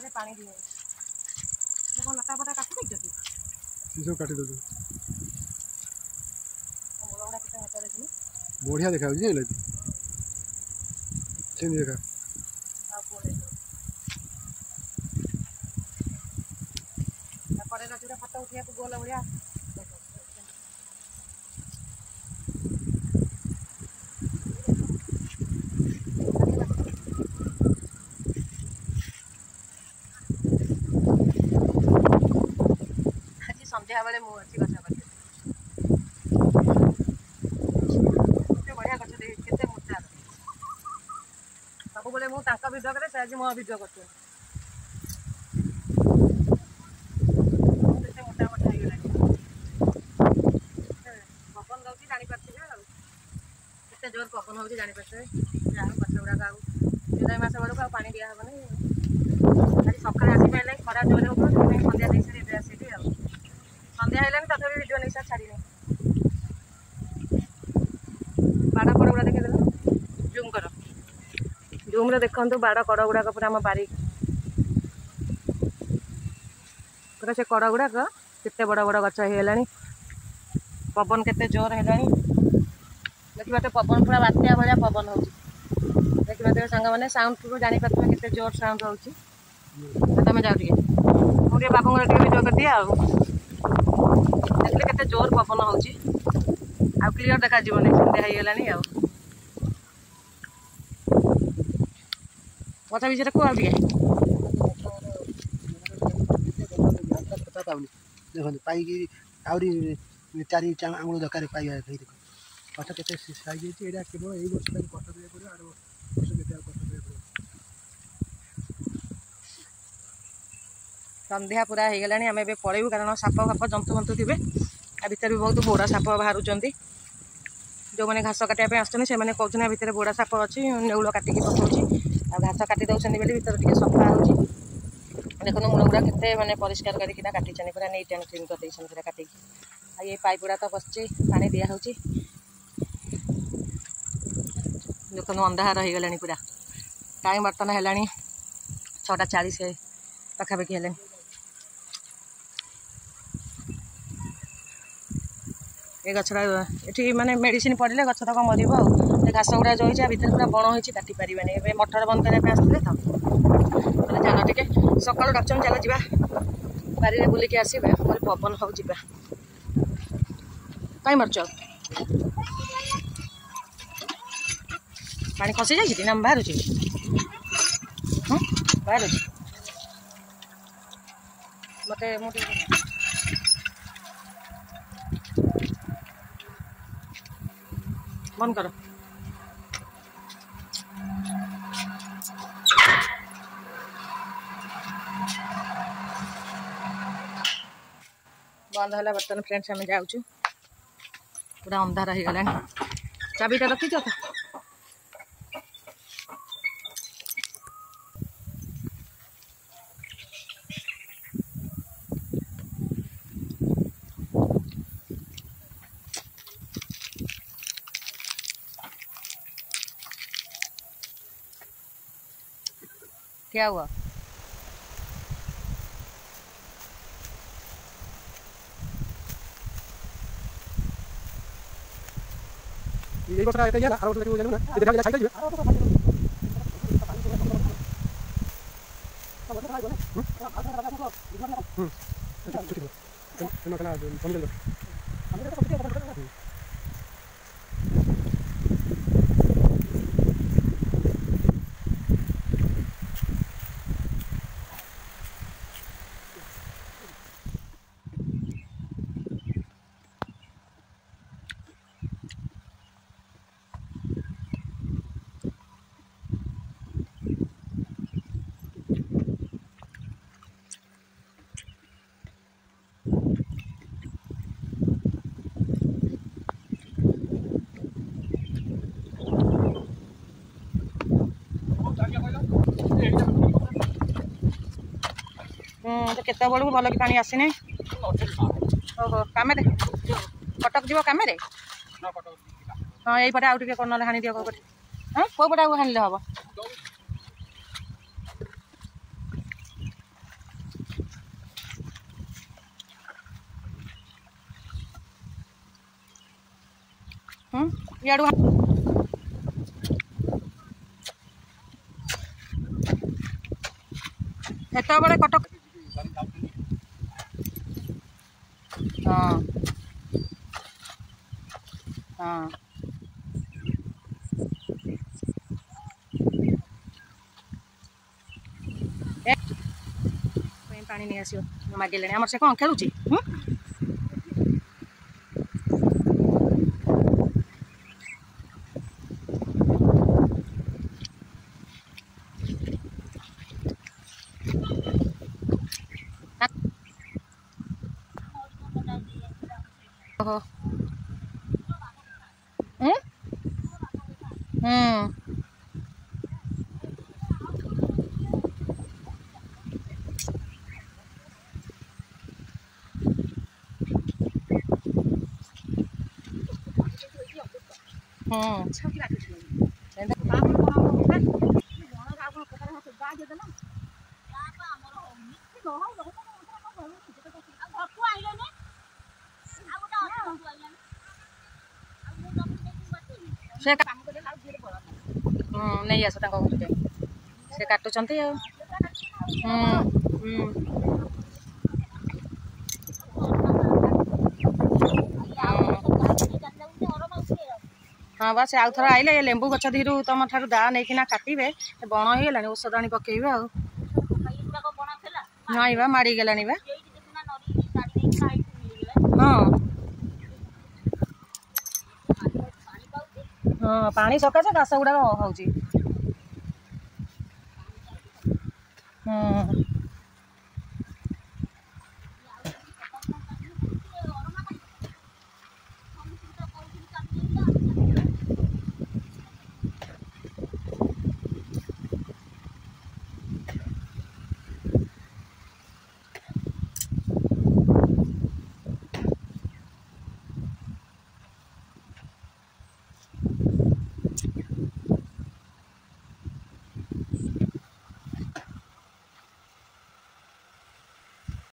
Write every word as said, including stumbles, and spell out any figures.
ଗଛରେ ପାଣି ଦିଆଯାଉଛି। କଣ ଲତା ଫତା କାଟି ଦେଇଛ କି? ସେ ସବୁ କାଟି ଦେଉଛନ୍ତି। ମୂଳ ଗୁଡ଼ା କେତେ ମୋଟା ଦେଖୁନୁ। ବଢ଼ିଆ ଦେଖାଯାଉଛି, ଜାଣିଲ କି? ସେମିତି ଦେଖା। ଆଉ କୁହ, ତାପରେ ଗଛଟା ଫଟୋ ଉଠେଇବାକୁ ଗୋଲ ଭଳିଆ। ଆଜି ସନ୍ଧ୍ୟାବେଳେ ମୁଁ ଅଛି ଗଛ ପାଖରେ। କେତେ ବଢ଼ିଆ ଗଛ ଦେଖି, କେତେ ମୋଟା। ସବୁବେଳେ ମୁଁ ତାଙ୍କ ଭିଡ଼ିଓ କରେ, ସେ ଆଜି ମୋ ଭିଡ଼ିଓ କରୁଛନ୍ତି। କେତେ ମୋଟା ମୋଟା ହେଇଗଲାଣି। ପବନ ଦଉଛି, ଜାଣିପାରୁଥିବେ ଆଉ କେତେ ଜୋର ପବନ ହେଉଛି, ଜାଣିପାରୁଥିବେ। ଯାହା ହଉ, ଗଛ ଗୁଡ଼ାକ ଆଉ ଜୁଲାଇ ମାସ ବେଳକୁ ଆଉ ପାଣି ଦିଆହେବନି। ଆଜି ସକାଳେ ଆସିପାରିଲେ ଖରା ଜୋରେ ହେଉଥିଲା, ସେଥିପାଇଁ ସନ୍ଧ୍ୟା ଦେଇ ସାରି ଏବେ ଆସିଲି। ଆଉ ସନ୍ଧ୍ୟା ହେଲାଣି, ତଥାପି ଭିଡ଼ିଓ ନେଇ ସାରି ଛାଡ଼ିନି। ବାଡ଼ କଡ଼ ଗୁଡ଼ା ଦେଖିଦେଲ, ଜୁମ୍ କର, ଜୁମ୍ରେ ଦେଖନ୍ତୁ ବାଡ଼ କଡ଼ ଗୁଡ଼ାକ ପୁରା। ଆମ ବାରି ପୁରା ସେ କଡ଼ ଗୁଡ଼ାକ କେତେ ବଡ଼ ବଡ଼ ଗଛ ହେଇଗଲାଣି। ପବନ କେତେ ଜୋର ହେଲାଣି ଦେଖିପାରୁଥିବେ। ପବନ ପୁରା ବାତ୍ୟା ଭଳିଆ ପବନ ହେଉଛି, ଦେଖିପାରୁଥିବେ ସାଙ୍ଗମାନେ। ସାଉଣ୍ଡରୁ ଜାଣିପାରୁଥିବେ କେତେ ଜୋର ସାଉଣ୍ଡ ହେଉଛି। ତମେ ଯାଅ ଟିକେ, ମୁଁ ଟିକେ ବାବୁଙ୍କର ଟିକେ ଭିଡ଼ିଓ କରିଦିଏ। ଆଉ ଦେଖିଲେ କେତେ ଜୋର ପବନ ହେଉଛି। ଆଉ କ୍ଲିଅର ଦେଖାଯିବନି, ସନ୍ଧ୍ୟା ହେଇଗଲାଣି। ଆଉ ଗଛ ବିଷୟରେ କୁହ ଆଉ ଟିକେ। ପାଉନି, ଦେଖନ୍ତୁ। ପାଇକି ଆହୁରି ଚାରି ଆଙ୍ଗୁଳ ଦରକାର ପାଇବା ପାଇଁ। ଦେଖନ୍ତୁ ଗଛ କେତେ ସାଇଜ୍ ହେଇଛି। ଏଇଟା କେବଳ ଏଇ ବର୍ଷ ତାକୁ କଷ୍ଟ କରିବାକୁ ପଡ଼ିବ, ଆର ବର୍ଷ କେତେ ଆଉ କଷ୍ଟ କରିବାକୁ ପଡ଼ିବ। ସନ୍ଧ୍ୟା ପୁରା ହେଇଗଲାଣି, ଆମେ ଏବେ ପଳେଇବୁ, କାରଣ ସାପ ଫାପ ଜନ୍ତୁ ଫନ୍ତୁ ଥିବେ। ଆ ଭିତରେ ବି ବହୁତ ବୋଡ଼ା ସାପ ବାହାରୁଛନ୍ତି। ଯେଉଁମାନେ ଘାସ କାଟିବା ପାଇଁ ଆସୁଛନ୍ତି, ସେମାନେ କହୁଛନ୍ତି ଆ ଭିତରେ ବୋଡ଼ା ସାପ ଅଛି, ନେଉଳ କାଟିକି ପକାଉଛି। ଆଉ ଘାସ କାଟି ଦେଉଛନ୍ତି ବୋଲି ଭିତରେ ଟିକେ ସଫା ହେଉଛି। ଦେଖନ୍ତୁ ମୂଳ ଗୁଡ଼ା କେତେ ମାନେ ପରିଷ୍କାର କରିକିନା କାଟିଛନ୍ତି, ପୁରା ନିଟ୍ ଆଣ୍ଡ କ୍ଲିନ୍ କରିଦେଇଛନ୍ତି ପୁରା କାଟିକି। ଆଉ ଏ ପାଇପ୍ ଗୁଡ଼ା ତ ବସିଛି, ପାଣି ଦିଆହେଉଛି। ଦେଖନ୍ତୁ ଅନ୍ଧାର ହେଇଗଲାଣି ପୁରା। ଟାଇମ୍ ବର୍ତ୍ତମାନ ହେଲାଣି ଛଅଟା ଚାଳିଶ ପାଖାପାଖି ହେଲାଣି। ଏ ଗଛଟା ଏଠି ମାନେ ମେଡ଼ିସିନ ପଡ଼ିଲେ ଗଛ ତକ ମରିବ। ଆଉ ଏ ଘାସ ଗୁଡ଼ା ଯେଉଁ ହେଇଛି, ଆ ଭିତରେ ପୁରା ବଣ ହେଇଛି, କାଟି ପାରିବେନି। ଏବେ ମଟର ବନ୍ଦ କରିବା ପାଇଁ ଆସିଥିଲେ ତ, କହିଲେ ଚାଲ ଟିକେ। ସକାଳୁ ଡାକୁଛନ୍ତି, ଚାଲ ଯିବା ବାରିରେ ବୁଲିକି ଆସିବା। କହିଲେ ପବନ ହଉ, ଯିବା। କାଇଁ ମାରୁଛ? ପାଣି ଖସି ଯାଇଛି କି ନା ବାହାରୁଛି? ହଁ, ବାହାରୁଛି। ମତେ ମୁଁ ଟିକେ ବନ୍ଦ କର। ବନ୍ଦ ହେଲା। ବର୍ତ୍ତମାନ ଫ୍ରେଣ୍ଡସ୍ ଆମେ ଯାଉଛୁ, ପୁରା ଅନ୍ଧାର ହେଇଗଲାଣି। ଚାବିଟା ରଖିଛ ତ? क्या हुआ? ଏଇ ବର୍ଷଟା ଏତେ ହେଲା, ଆର ବର୍ଷ ଦେଖିବୁ, ଜାଣିବୁ ନା ଏ ଦେଖା ଛାଇ ଯିବେ। ହୁଁ, ଛୁଟି ଥିଲା। ହୁଁ, ତ କେତେବେଳକୁ ଭଲ କି ପାଣି ଆସିନି। ଓହୋ, କାମରେ କଟକ ଯିବ କାମରେ? ହଁ, ଏଇପଟେ ଆଉ ଟିକେ ନହେଲେ ହାଣି ଦିଅ। କୋଉ ପଟେ? ହଁ, କୋଉ ପଟେ ଆଉ ହାଣିଲେ ହବ? ହୁଁ ଇଆଡ଼ୁ ହେତେବେଳେ କଟକ। ହଁ ହଁ, ପାଣି ନେଇ ଆସିବ, ମାଗିଲେଣି ଆମର। ସେ କ'ଣ ଖେଳୁଛି? ହୁଁ ଓହୋ, ହୁଁ ହୁଁ ହୁଁ। ସେ ହୁଁ ନେଇ ଆସ ତାଙ୍କ ଘରୁ ଯାଇ, ସେ କାଟୁଛନ୍ତି ଆଉ। ହୁଁ ହୁଁ। ହଁ ବା, ସେ ଆଉ ଥରେ ଆଇଲେ ଏ ଲେମ୍ବୁ ଗଛ ଦିହରୁ ତମ ଠାରୁ ଦାଆ ନେଇକିନା କାଟିବେ। ଏ ବଣ ହେଇଗଲାଣି, ଔଷଧ ଆଣି ପକେଇବେ। ଆଉ ନାଇଁ ବା, ମାଡ଼ିଗଲାଣି ବା। ହଁ ହଁ, ପାଣି ସକାଶେ ଘାସ ଗୁଡ଼ାକ ହଉଛି। ହୁଁ।